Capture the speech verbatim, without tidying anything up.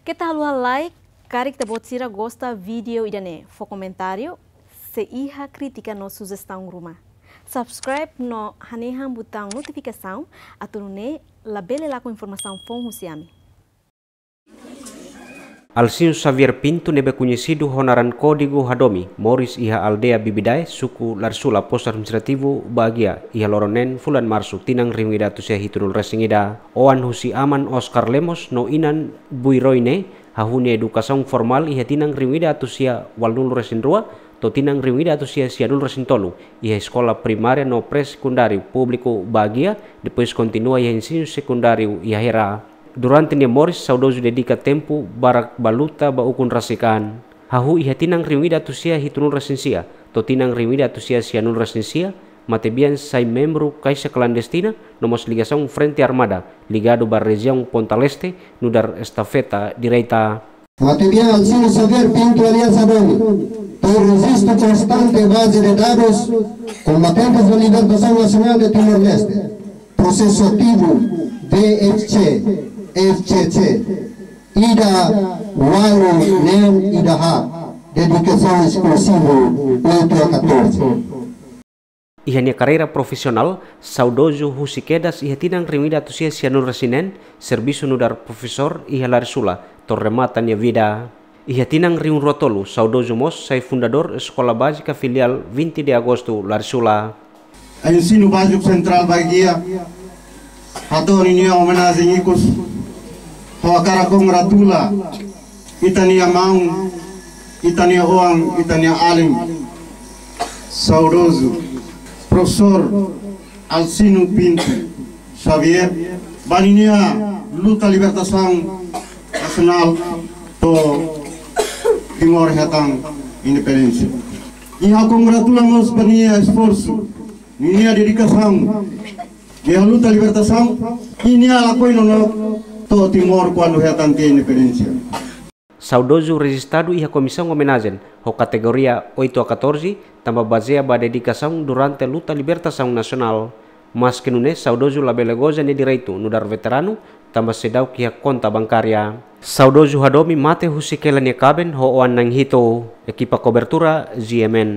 Keta haluha like, karik ita-boot sira gosta vídeo ida-ne'e, fó komentáriu, se iha krítika no sujestaun ruma. Subscribe no hanehan butaun notifikasaun, atu nune'e labele lakon informasaun foun husi ami. Alcinho Xavier Pinto ne'ebé koñesidu ho naran kódigu Hadomi, moris iha aldeia Bibidae, suku Larisula, postu administrativu Baguia, iha loron neen fulan Marsu, tinan rihun ida atus sia hitunulu resin ida. Oan husi aman Oscar Lemos no inan Buiroine, hahú nia edukasaun formál iha tinan rihun ida atus sia ualunulu resin rua to'o tinan rihun ida atus sia sianulu resin tolu, iha eskola primária no pré-sekundáriu públiku Baguia, depois kontinua iha ensinu sekundáriu iha Hera. Durante nia moris, saudozu dedika tempu barak ba luta ba ukun rasik an. Hahú iha tinan rihun ida atus sia hitunulu resin sia to'o tinan rihun ida atus sia sianulu resin sia, matebian sai membru Kaixa Klandestina, no mós ligasaun Frente Armada, ligadu ba rejiaun Ponta Leste, nu'udar estafeta direita. Matebian Alcinho Xavier Pinto alias Hadomi, tem registro constante em base de dados Combatentes da Libertação Nacional de Timor-Leste, processo ativo V F C, F C C, ida ualu neen ida haat, dedicação exclusiva oito a catorze. Iha nia karreira profisionál, saudozu husik kedas iha tinan rihun ida atus sia sianulu resin neen, servisu nu'udar profesór iha Larisula, to'o remata nia vida. Iha tinan rihun rua tolu, saudozu mós sai fundadór Eskola Bázika Filiál vinte de Agosto, Larisula. Ensinu Báziku Sentrál Baguia hato'o ninia omenajen ikus, hodi hakarak kongratula ita-nia maun, ita-nia oan, ita-nia alin, saudozu Profesór Alcinho Pinto Xavier, ba ninia luta libertasaun nasionál to'o Timor hetan independénsia. I ha'u kongratula mós ba nia esforsu, ninia dedikasaun iha luta libertasaun, i nia lakohi nonook to'o Timor kuandu hetan tiha independénsia. Saudozu rejistadu iha komisaun omenajen ho kategoria oito a catorze, tanba bazeia ba dedikasaun durante luta libertasaun nasionál. Maske nune'e, saudozu labele goza nia direitu nu'udar veteranu, tanba seidauk iha konta bankária. Saudozu Hadomi mate husik hela nia kaben ho oan na'in hitu. Ekipa kobertura, G M N.